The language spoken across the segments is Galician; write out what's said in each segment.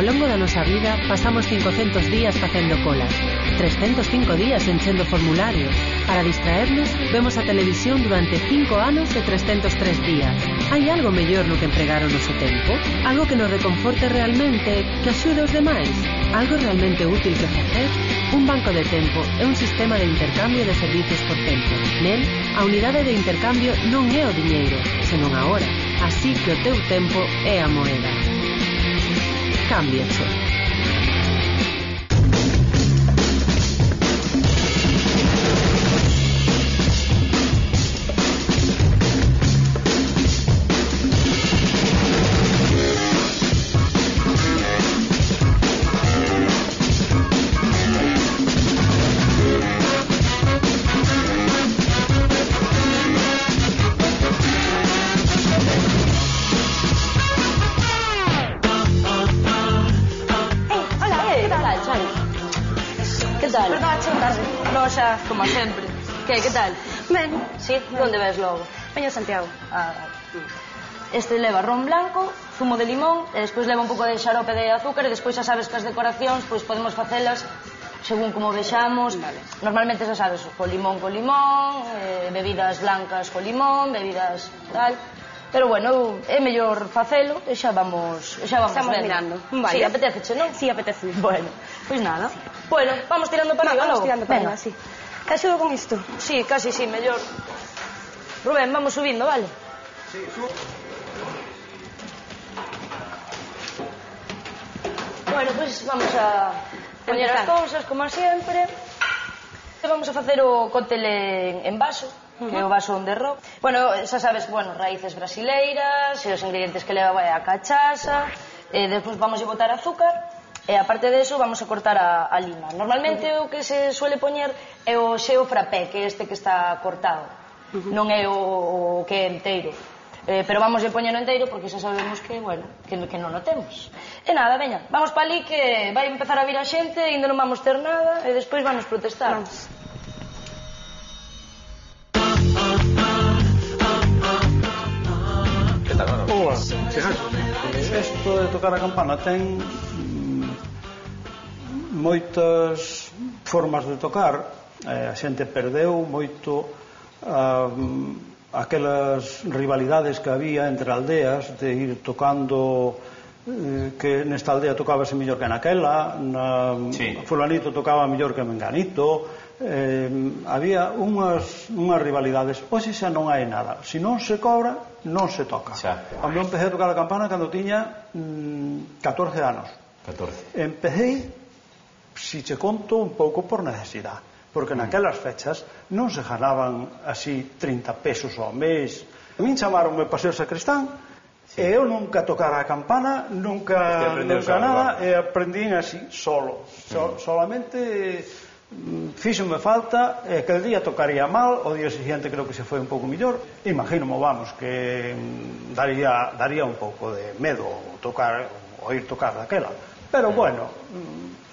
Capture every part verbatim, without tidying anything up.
Ao longo da nosa vida pasamos cincocentos días facendo colas, trescentos cinco días enchendo formularios. Para distraernos, vemos a televisión durante cinco anos e trescentos tres días. Hai algo mellor no que empregar o noso tempo? Algo que nos reconforte realmente, que axude aos demais? Algo realmente útil que facer? Un banco de tempo é un sistema de intercambio de servicios por tempo. Nel, a unidade de intercambio non é o diñeiro, senón a hora. Así que o teu tempo é a moeda. Cámbiacho. Como sempre. Que, que tal? Ben. Sí? Onde ves logo? Veño a Santiago. Ah, vale. Este leva ron blanco, zumo de limón, e despois leva un pouco de xarope de azúcar, e despois xa sabes que as decoracións pois podemos facelas según como vexamos. Vale. Normalmente xa sabes, co limón co limón, eh, bebidas blancas co limón, bebidas tal. Pero bueno, é mellor facelo e xa vamos, xa vamos Estamos vendo. mirando. Vale. Sí, apeteceche, non? Sí, apetece. Bueno, pois nada. Bueno, vamos tirando para arriba, vamos logo. tirando para arriba, sí. Que axudo con isto? Sí, casi sí, mellor. Rubén, vamos subindo, vale? Sí, subo. Bueno, pois pues vamos a poñer as cousas, como sempre. Vamos a facer o cóctel en, en vaso, uh -huh. que é o vaso on the rock. Bueno, xa sabes, bueno, raíces brasileiras, e os ingredientes que leva vai a cachaza, e despois vamos a botar azúcar, e aparte de eso vamos a cortar a, a lima. Normalmente uh -huh. o que se suele poñer é o xeo frappé, que é este que está cortado, uh -huh. non é o, o que é enteiro. Eh, pero vamos a poñer enteiro porque xa sabemos que, bueno, que, que non o temos. E nada, veña, vamos pa ali que vai empezar a vir a xente, ainda non vamos ter nada, e despois vamos protestar. Vamos. Que tal, Manolo? Hola, isto de tocar a campana ten moitas formas de tocar. A xente perdeu moito aquelas rivalidades que había entre aldeas de ir tocando, que nesta aldea tocábase mellor que naquela, na sí. fulanito tocaba mellor que menganito. Eh, había unhas, unhas rivalidades. Hoxe xa non hai nada. Se non se cobra, non se toca. Xa. Cando empecé a tocar a campana cando tiña mm, catorce anos. catorce. Empecé, si che conto, un pouco por necesidade, porque mm. naquelas fechas non se ganaban así trinta pesos ao mes. A min chamaronme para ser sacristán, sí. e eu nunca tocara a campana, nunca, nunca nada, e aprendín así, solo. So, mm. solamente fíxome falta, e aquel día tocaría mal, o día siguiente creo que se foi un pouco mellor. Imagínome, vamos, que daría, daría un pouco de medo tocar, oír tocar daquela. Pero bueno,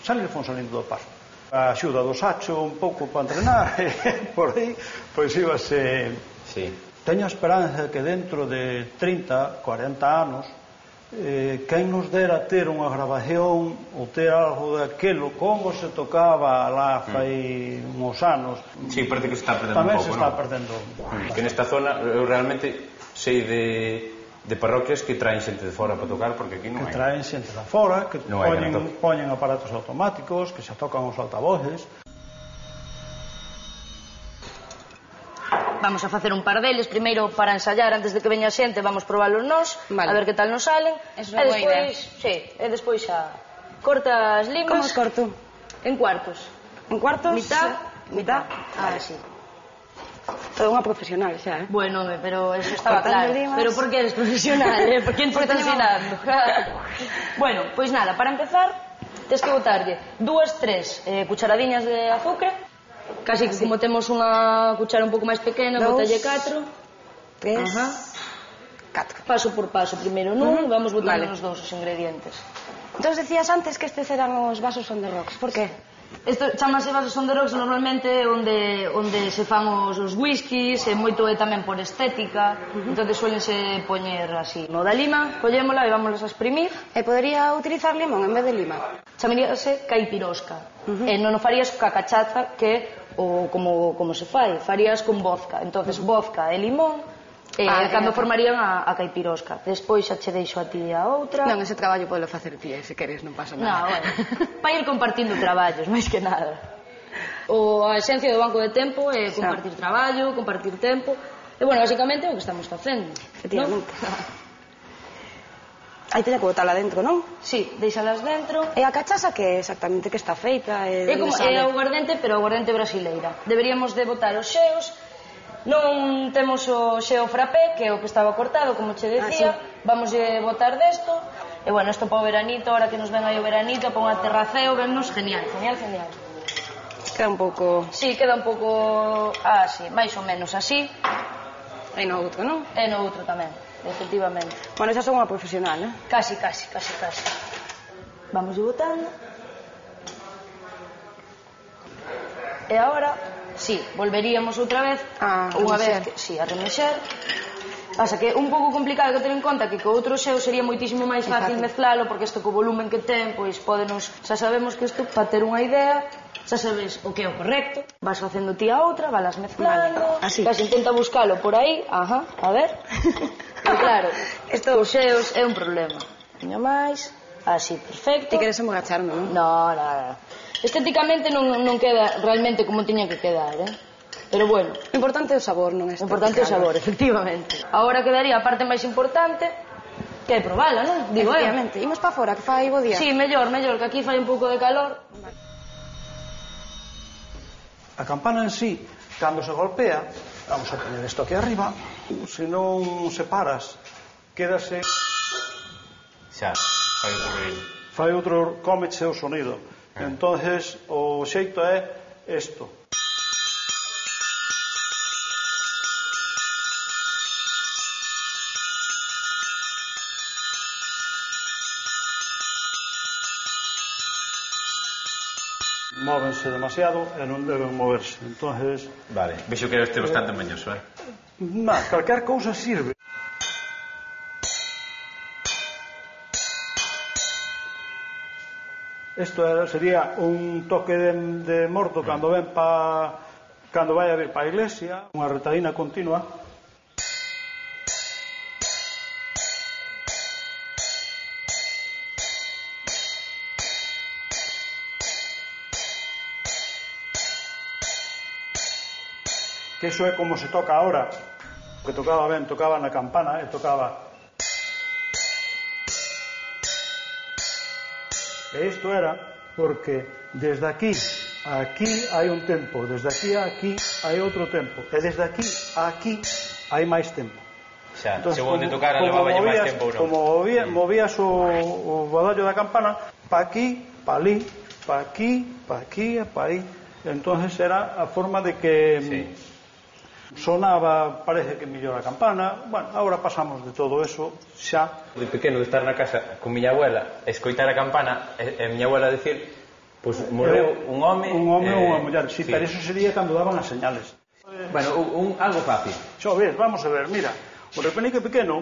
salir fon salindo do paso. A axuda do Sacho un pouco para entrenar, e por aí, pois íbase... Sí. Teño a esperanza que dentro de trinta, cuarenta anos, eh, quen nos dera ter unha grabación ou ter algo daquelo, como se tocaba lá fai mm. uns anos. Sí, parece que se está perdendo tamén un pouco, se está ¿no? perdendo. Mm. Que nesta zona, eu realmente sei de, de parroquias que traen xente de fora para tocar, porque aquí non hai. Que traen xente de fora, que non poñen, poñen aparatos automáticos, que se tocan os altavoces. Vamos a facer un par deles, primeiro para ensayar antes de que veña a xente, vamos probalos nós, vale. A ver que tal nos salen. Eso é boa idea. Sí, e despois xa corta as limas. Como os corto? En cuartos. En cuartos? Mitad, mitad. Ah, sí. Todo unha profesional xa, eh? Bueno, pero eso estaba Cortando claro. limas. Pero por que eres profesional, eh? Por que te está ensinando? Bueno, pois nada, para empezar, tens que botarlle dúas, tres eh, cucharadiñas de azúcar. Casi que sí. Como temos unha cuchara un pouco máis pequena, botalle catro. Tres. Ajá. Catro. Paso por paso, primeiro nun, uh -huh. vamos botando vale. os dous os ingredientes. Entón decías antes que estes eran os vasos on the rocks, por que? Isto chamase vasos on the rocks normalmente onde onde se fan os, os whiskies, e moito é tamén por estética, entón suelense poñer así. No da lima, collémola e vámonos a exprimir. E podería utilizar limón en vez de lima? Chamaríase caipirosca. E non o farías ca cachaza, que o como como se fai, farías con vodka. Entonces vodka e limón, e Ah, cando claro. formarían a, a caipirosca. Despois xa che deixo a ti a outra. Non, ese traballo pode facer ti, se queres, non pasa No, nada. bueno, para ir compartindo traballos, máis que nada. O a esencia do banco de tempo é compartir traballo, compartir tempo. E, bueno, basicamente é o que estamos facendo. Efectivamente. ¿No? Aí teña que botala dentro, non? Sí, deixalas dentro. E a cachaza que exactamente que está feita? E É como é o aguardente, pero o aguardente brasileira. Deberíamos de botar os xeos. Non temos o xeo frappé, que é o que estaba cortado, como che decía. Ah, sí. Vamos a botar desto. E, bueno, isto para o veranito, ahora que nos ven aí o veranito, para un aterraceo, vennos genial, genial, genial. Queda un pouco... Sí, queda un pouco así, máis ou menos así. Aí no outro, non? E no outro tamén, efectivamente. Bueno, xa son unha profesional, eh? Casi, casi, casi, casi. Vamos ir botando. E agora, sí, volveríamos outra vez. A unha remexer. vez que, sí, a remexer. Pasa que é un pouco complicado que ter en conta que co outro xeo sería moitísimo máis fácil Fácil. mezclalo, porque isto co volumen que ten, pois pódenos, xa sabemos que isto, para ter unha idea, xa sabes o que é o correcto, vas facendo ti a outra, valas mezclando, Vale, así. casi intenta buscalo por aí, ajá, a ver. E claro, isto os xeos é un problema. Poño máis, así, perfecto. Ti queres emborracharme, non? No, nada. Estéticamente non, non queda realmente como tiña que quedar, eh? Pero bueno, O importante é o sabor, non é o importante é o sabor, efectivamente. Agora quedaría a parte máis importante, que é probala, non? Digo, eh? Efectivamente. Imos pa fora, que fai bo día. Sí, mellor, mellor, que aquí fai un pouco de calor. A campana en sí, cando se golpea, vamos a poner isto aquí arriba, se non separas, quédase, Xa, fai outro ruido. fai outro, cómeche o sonido. Entonces, o xeito é isto. Móvense demasiado e non deben moverse. Entonces, Vale, vexo que este bastante mañoso, eh? na, calquer cousa sirve. Isto era, sería un toque de, de morto cando ven pa, cando vai a vir pa a iglesia, unha retadina continua. Que iso é como se toca ahora, que tocaba ben, tocaba na campana e tocaba. E isto era porque desde aquí a aquí hai un tempo, desde aquí a aquí hai outro tempo, e desde aquí a aquí hai máis tempo. Xa, Entonces, según de como- tocar, como levaba máis movías- tempo ou non. Como movía, movías o, o badallo da campana pa aquí, pa ali, pa aquí, pa aquí e pa aí. Entonces era a forma de que Sí. sonaba, parece que mellor a campana. Bueno, agora pasamos de todo eso xa. De pequeno, de estar na casa con miña abuela, escoitar a campana e, e miña abuela decir, pois pues, morreu un home un home ou eh, unha muller, sí, sí. pero eso sería cando daban as señales. Bueno, un, un, algo fácil, Xo ves, vamos a ver, mira, o repenique pequeno,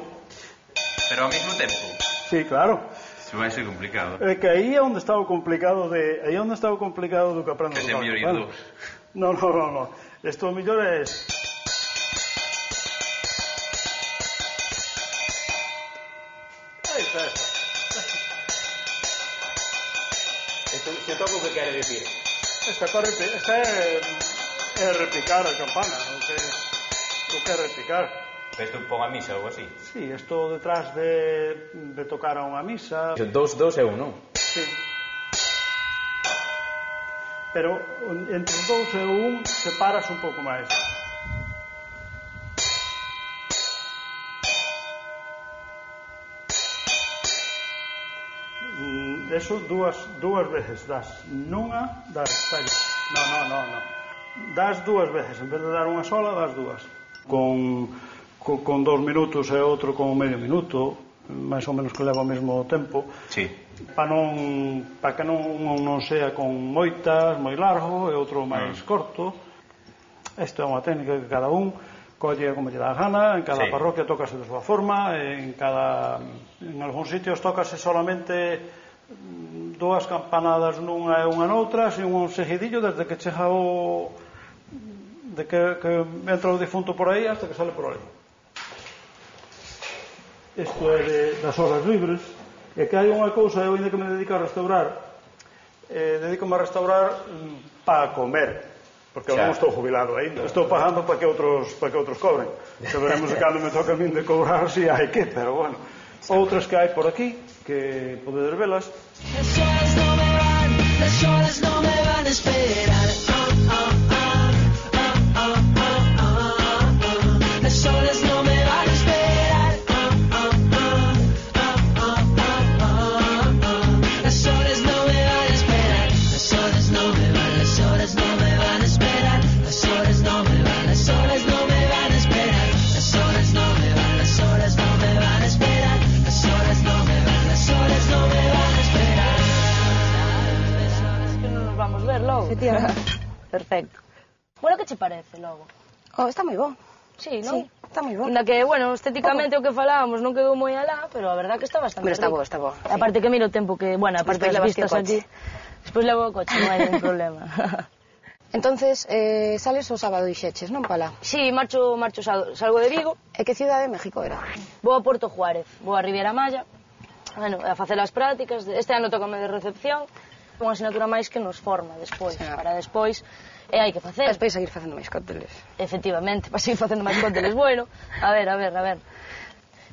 pero ao mesmo tempo sí, claro, se vai ser complicado. é que aí é onde está o complicado de, aí é onde está o complicado do que aprendo. Que se a tocar, mellor ir bueno. dous. No, no, no, no. Isto o mellor é Aí está eso. Esto, se toco o que quere decir. Esta, corre, esta é, é repicar a campana, o que, o que é repicar. Isto pon a misa ou algo así. Sí, isto detrás de, de tocar a unha misa. Dos, dos é un, non? Sí. Pero entre os dous e o un separas un pouco máis. Mm, Eso dúas, dúas veces das nunha, das tallas. No, no, no, no. Das dúas veces, en vez de dar unha sola, das dúas. Con, con, con dous minutos e outro con medio minuto, máis ou menos que leva ao mesmo tempo, sí. para non para que non, non sea con moitas, moi largo, e outro máis mm. corto. Isto é unha técnica que cada un colle como lle dá a gana, en cada sí. parroquia tócase de súa forma, en cada en algúns sitios tócase solamente dúas campanadas nunha e unha noutra, sin un seguidillo desde que chega o de que, que entra o difunto por aí hasta que sale por aí. Isto é de, das horas libres, e que hai unha cousa, eu ainda que me dedico a restaurar, eh, dedico-me a restaurar mm, para comer, porque eu non estou jubilado ainda, estou pagando para que outros, para que outros cobren. Se veremos de cando me toca a min de cobrar, si hai que, pero bueno. Outras que hai por aquí, que podedes velas. Las horas no me van, las horas no me van a esperar. Perfecto. Bueno, que che parece logo? Oh, está moi bo. Sí, non? Sí, está moi bo. Inda que, bueno, estéticamente o que falábamos non quedou moi alá, pero a verdad que está bastante Pero está rico. bo, está bo. Sí. Aparte que mira o tempo que, bueno, aparte das vistas aquí. Despois levo o coche, non hai ningún problema. Entonces, eh, sales o sábado e xeches, non, Pala? Sí, marcho, marcho salgo de Vigo. E que cidade de México era? Vou a Puerto Juárez, vou a Riviera Maya, bueno, a facer as prácticas. Este ano tócame de recepción, unha asignatura máis que nos forma despois, sí. Para despois e hai que facer. Despois seguir facendo máis cócteles. Efectivamente, para seguir facendo máis cócteles. Bueno, a ver, a ver, a ver.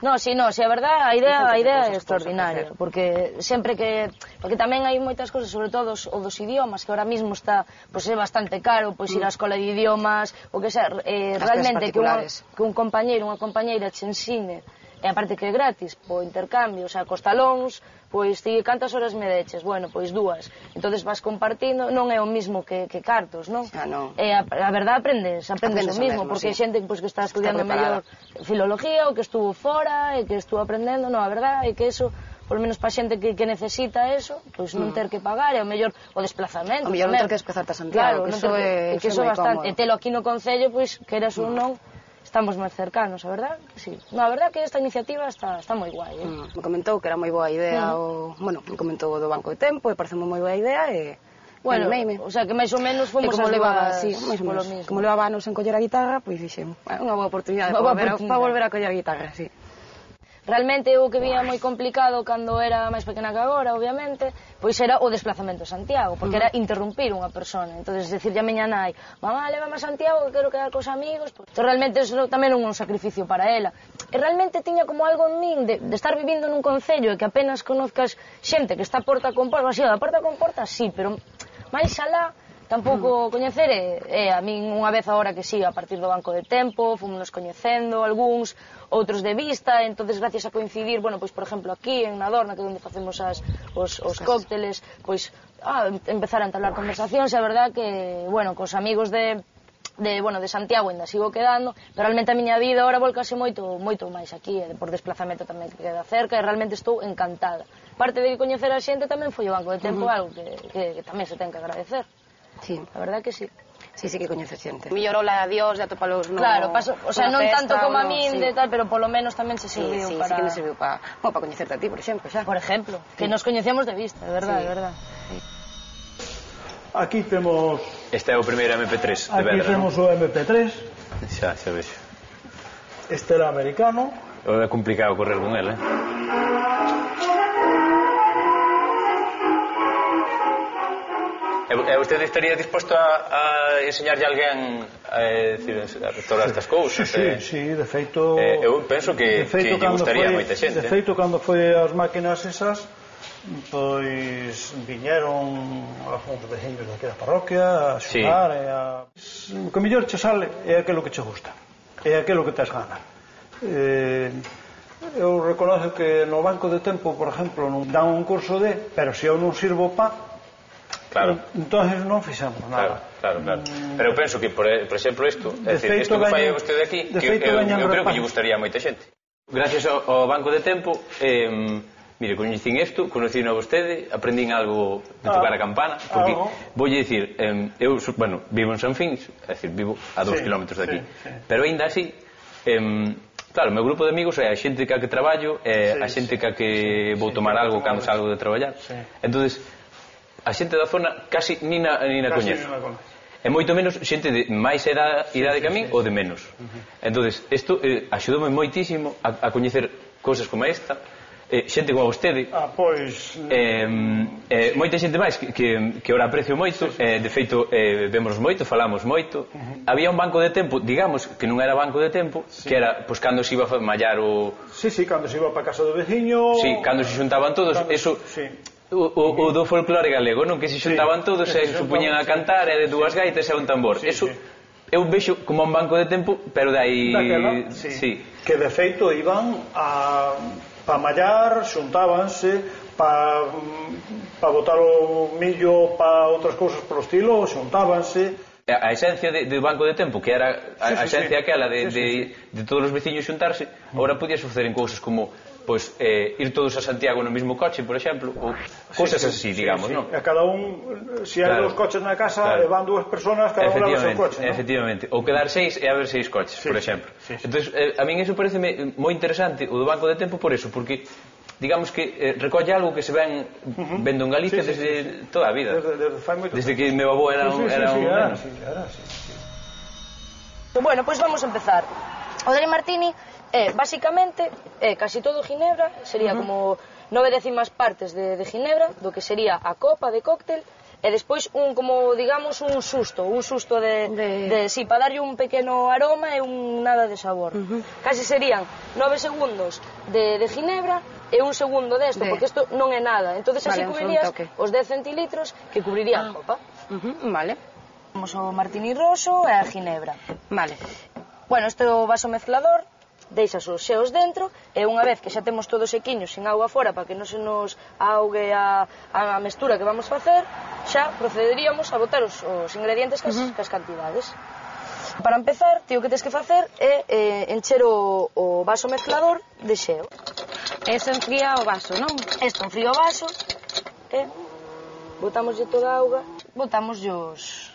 No, si, no, si, a verdad, a idea, a idea é extraordinaria, porque sempre que... Porque tamén hai moitas cosas, sobre todo o dos idiomas, que ahora mismo está, pois é bastante caro, pois ir á escola de idiomas, o que sea, eh, realmente que, unha, que un compañeiro, unha compañeira che ensine, e aparte que é gratis, po intercambio, o sea, cos talóns, pois ti cantas horas me deches? Bueno, pois dúas. Entonces vas compartindo, non é o mismo que, que cartos, non? Ah, non. E a, a verdade aprendes, aprendes, aprendes o mismo, mesmo, porque hai sí. xente pois, que está estudiando mellor filología, ou que estuvo fora, e que estuvo aprendendo, non, a verdade é que eso, por menos para xente que, que necesita eso, pois non ter que pagar, e o mellor o desplazamento. O mellor non ter que desplazarte a Santiago, claro, que eso é, que eso é bastante. E telo aquí no Concello, pois, queras ou non, estamos máis cercanos, a verdad? Sí. No, a verdad que esta iniciativa está, está moi guai, eh? Mm, me comentou que era moi boa idea, mm. o, bueno, me comentou do Banco de Tempo, e parece moi boa idea, e... Bueno, animeime. O sea, que máis ou menos fomos como as levaba, sí, máis ou menos. Como levaba anos en coller a guitarra, pois dixen, bueno, unha boa oportunidade para volver, volver a coller a guitarra, sí. Realmente o que vía moi complicado cando era máis pequena que agora, obviamente, pois era o desplazamento a Santiago, porque uh -huh. era interrumpir unha persona. Entonces, decirlle a miña nai, mamá, lévame a Santiago que quero quedar cos amigos, pues, então, realmente eso tamén é un sacrificio para ela. E realmente tiña como algo en min de, de estar vivindo nun concello e que apenas conozcas xente que está porta con porta, así, a porta con porta, sí, pero máis alá tampouco coñecer e, e a min unha vez agora que sí, a partir do Banco de Tempo, fomos coñecendo algúns, outros de vista, entonces gracias a coincidir, bueno, pois por exemplo aquí en Nadorna, que é onde facemos as, os, os cócteles, pois ah, empezar a entablar conversacións, e a verdad que, bueno, cos amigos de de, bueno, de Santiago ainda sigo quedando, pero realmente a miña vida ahora volcase moito moito máis aquí, e por desplazamento tamén que queda cerca, e realmente estou encantada. Parte de coñecer a xente tamén foi o Banco de Tempo, uh -huh. algo que, que, que tamén se ten que agradecer. Sí, a verdad que sí. Sí, sí que coñece xente. Millorola a Dios, de atopalos no... Claro, paso, o sea, non tanto como a min, sí. de tal, pero polo menos tamén se serviu sí, sí, para... Sí, sí que me serviu para... Bueno, para coñecerte a ti, por exemplo, xa. Por exemplo, sí. Que nos coñecemos de vista, de verdade, sí. de verdade. Sí. Aquí temos... Este é o primeiro eme pe tres de Aquí Vedra, temos ¿no? o eme pe tres. Xa, xa vexo. Este era americano. É complicado correr con ele, eh? E vostede estaría disposto a, a enseñarlle a alguén a, decir, a restaurar estas cousas? Sí, eh? sí, de feito... Eh, eu penso que, feito, que lle gustaría foi, moita xente. De feito, cando foi as máquinas esas, pois viñeron algúns veciños daqui da parroquia a xogar, sí. E a... O que mellor che sale é aquilo que che gusta, é aquilo que tes gana. Eh, eu reconozo que no Banco de Tempo, por exemplo, non dan un curso de, pero se eu non sirvo pa, claro. Entonces non fixemos nada. Claro, claro, claro. Pero eu penso que, por, por exemplo, isto, é dicir, isto que fai vostede aquí, que eu, eu, eu creo que lle gustaría a moita xente. Gracias ao, ao Banco de Tempo, eh, mire, coñecín isto, conocín a vostede, aprendín algo de tocar a campana, porque, voulle dicir, eh, eu, bueno, vivo en San Fins, é dicir, vivo a dous kilómetros de aquí, pero ainda así, eh, claro, o meu grupo de amigos é a xente que a que traballo, é a xente que a que vou tomar algo cando salgo de traballar, entonces, a xente da zona casi ni na, ni na coñezo. E moito menos xente de máis idade, idade que a min ou de menos. Entonces, isto eh, axudoume moitísimo a, a coñecer cousas como esta, eh, xente como vostede, ah, pois... eh, eh, moita xente máis que, que, que ora aprecio moito, sí, sí. Eh, de feito, eh, vemos moito, falamos moito. Uh-huh. Había un banco de tempo, digamos, que non era banco de tempo, sí, que era, pois, cando se iba a mallar o... Sí, sí, cando se iba para casa do veciño... Sí, cando se xuntaban todos, cando... eso... Sí. O, o, o do folclore galego, non? Que se xuntaban todos e se puñan a cantar e de dúas gaitas e un tambor. Eso eu vexo como un banco de tempo, pero de aí... Daquela, sí. Que de feito iban a pa mallar, xuntábanse pa, pa botar o millo pa outras cousas polo estilo, xuntábanse. A esencia de, de banco de tempo, que era a, a esencia aquela de, de, de todos os veciños xuntarse, agora podía suceder en cousas como pois eh, ir todos a Santiago no mismo coche, por exemplo, ou cousas sí, sí, así, digamos, sí, sí. non? A cada un, se si hai claro, dous coches na casa, claro, e van dúas personas, cada un leva o seu coche, non? Efectivamente, ou quedar seis e haber seis coches, sí, por exemplo. Sí, sí. Entón, eh, a min eso pareceme moi interesante, o do banco de tempo, por eso, porque digamos que eh, recolle algo que se ven uh-huh. vendo en Galicia sí, sí, desde sí, sí. toda a vida. Desde, desde, desde que meu avó era un, sí, sí, era sí, un sí, neno. Sí, claro, sí, sí. Bueno, pois pues vamos a empezar. O Dry Martini é, basicamente, é casi todo ginebra, sería uh-huh. como nove décimas partes de, de ginebra, do que sería a copa de cóctel, e despois un, como, digamos, un susto, un susto de, de... de sí, para darlle un pequeno aroma e un nada de sabor. Uh-huh. Casi serían nove segundos de, de ginebra e un segundo desto, de... porque isto non é nada. Entonces así vale, cubrirías os dez centilitros que cubrirían a copa. Uh-huh. Vale. Temos o martini roso e a ginebra. Vale. Bueno, este é o vaso mezclador, deixas os xeos dentro e unha vez que xa temos todos sequiños sin auga fora para que non se nos augue a, a mestura que vamos facer, xa procederíamos a botar os, os ingredientes cas, uh-huh. cas cantidades. Para empezar, tío, o que tens que facer é eh, encher o, o vaso mezclador de xeo. Eso enfría o vaso, non? Isto enfría o vaso e botamoslle toda a auga, botamoslle os,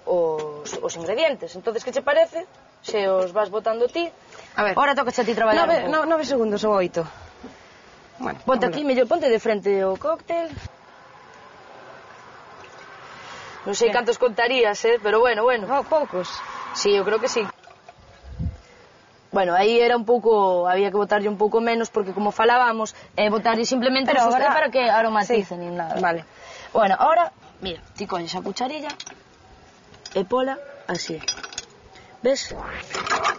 os, os ingredientes. Entonces, que che parece? Se os vas botando ti. A ver, ahora toca a ti traballar nove, no, nove segundos ou oito. Bueno, ponte aquí, mellor ponte de frente o cóctel. Non sei cantos contarías, eh, pero bueno, bueno. Oh, poucos. Sí, eu creo que sí. Bueno, aí era un pouco, había que botarlle un pouco menos porque como falábamos, eh, botarlle simplemente pero ahora... para que aromaticen sí. Ni nada. Vale. Bueno, ahora, mira, ti colles a cucharilla e pola así. Ves?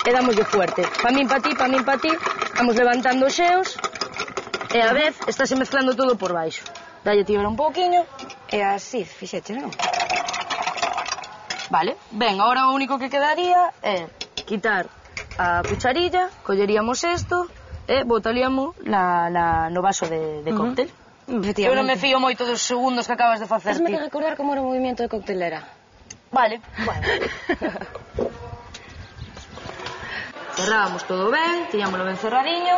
E damoslle fuerte. Pa min, pa ti, pa min, pa ti. Vamos levantando os xeos. E a vez, estáse mezclando todo por baixo. Dalle ti un pouquiño. E así, fixeche, non? Vale. Ben, agora o único que quedaría é quitar a cucharilla, colleríamos isto e botaríamos na, na, no vaso de, de cóctel. Uh-huh. Eu non me fío moito dos segundos que acabas de facer ti. Hasme que recordar como era o movimento de coctelera. Vale, bueno. Cerrábamos todo ben, tiñámoslo ben cerradiño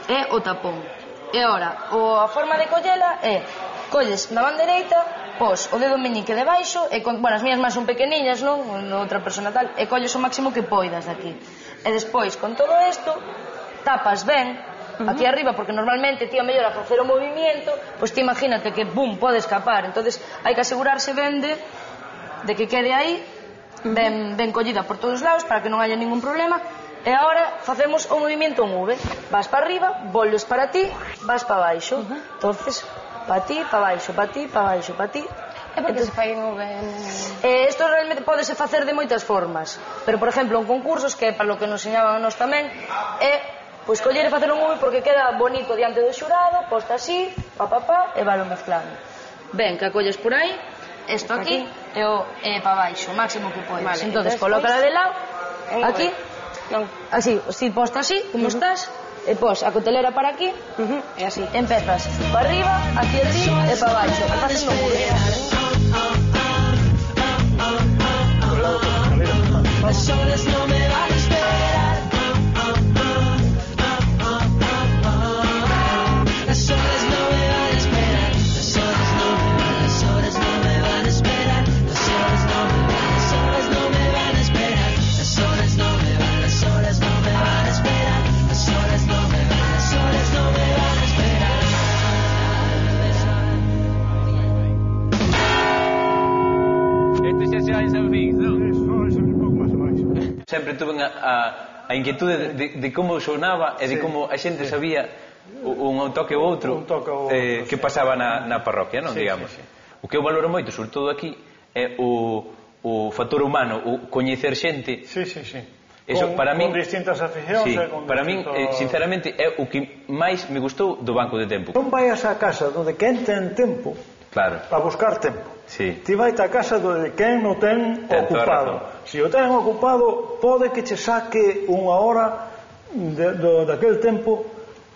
e o tapón. E ora, o, a forma de collela é colles na man dereita, pos o dedo meñique debaixo e con, bueno, as mías máis son pequeniñas, non? Outra persona tal, e colles o máximo que poidas daqui. E despois, con todo isto, tapas ben uh-huh. aquí arriba, porque normalmente ti a mellor a facer o movimiento, pois ti imagínate que, bum, pode escapar. Entonces hai que asegurarse ben de, de que quede aí ben, ben collida por todos os lados para que non haya ningún problema. E agora facemos o movimento en V. Vas para arriba, volves para ti, vas para baixo. Uh-huh. Entonces, para ti, para baixo, para ti, para baixo, para ti. É porque Entonces, se fai en V. Eh, isto realmente podese facer de moitas formas. Pero, por exemplo, en concursos, que é para lo que nos enseñaban a nós tamén, é pois coller e facer un V porque queda bonito diante do xurado, posta así, pa, pa, pa, e valo mezclando. Ben, que acolles por aí, isto aquí, aquí. e o e para baixo, o máximo que podes. Vale, entonces, colócala de lado, aquí, non. Así, si posta así, como uh-huh. estás, e pos a cotelera para aquí, uh-huh. e así. Empezas para arriba, aquí así, e para baixo. E faces un V. Las horas no me van a esperar. Sempre tuve a inquietude de como sonaba e de como a xente sabía un toque ou outro que pasaba na parroquia, non, digamos. O que eu valoro moito, sobre todo aquí, é o factor humano, o coñecer xente. Sí, sí, sí. Con distintas aficións. Para min, sinceramente, é o que máis me gustou do Banco de Tempo. Non vayas a casa onde quen ten tempo a buscar tempo. Ti vai a casa onde quen non ten ocupado. Se o ten ocupado, pode que che saque unha hora daquele tempo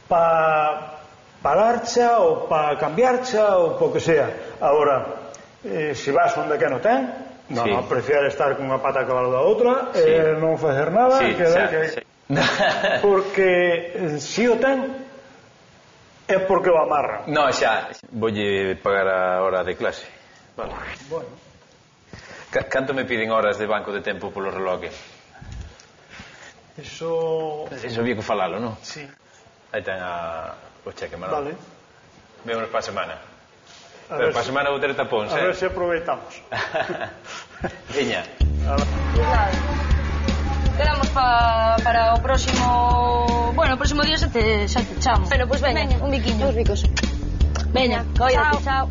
para pararcha ou para cambiarcha ou po que sea. Agora, se vas onde quen non ten, non, non, prefiere estar con unha pata a cabalo da outra e non facer nada, porque se o ten é porque o amarran. Non, xa, voulle pagar a hora de clase. Vale. Bueno. Canto me piden horas de Banco de Tempo polo reloque? Eso... Eso había que falalo, non? Sí. Aí ten o cheque, Manolo. Vale. Vémonos para a semana. Pero para a semana vou ter tapóns, eh? A ver se aproveitamos. Veña. Quedamos para o próximo... Bueno, o próximo día xa te chamo. Bueno, pois veña, un biquiño. Os bicos. Veña, coídate. Chao.